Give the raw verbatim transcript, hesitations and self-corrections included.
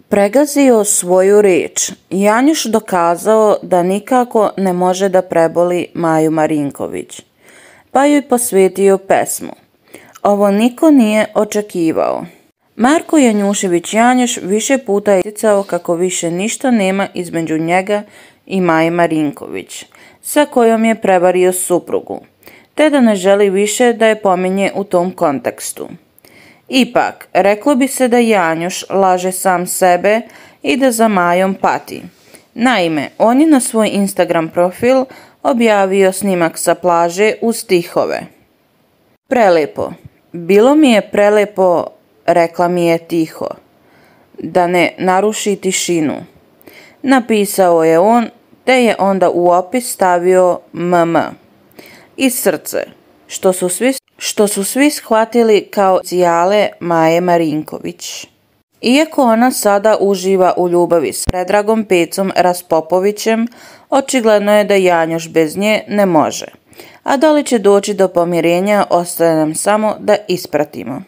Pregazio svoju riječ. Janjuš dokazao da nikako ne može da preboli Maju Marinković, pa joj posvetio pesmu. Ovo niko nije očekivao. Marko Janjušević Janjuš više puta je isticao kako više ništa nema između njega i Maje Marinković, sa kojom je prevario suprugu, te da ne želi više da je pominje u tom kontekstu. Ipak, reklo bi se da Janjuš laže sam sebe i da za Majom pati. Naime, on je na svoj Instagram profil objavio snimak sa plaže uz stihove. Prelepo. Bilo mi je prelepo, rekla mi je tiho, da ne naruši tišinu. Napisao je on, te je onda u opis stavio mm i srce, što su svi, što su svi shvatili kao cijale Maje Marinković. Iako ona sada uživa u ljubavi s Predragom Pecom Raspopovićem, očigledno je da Janjuš bez nje ne može. A da li će doći do pomirenja, ostaje nam samo da ispratimo.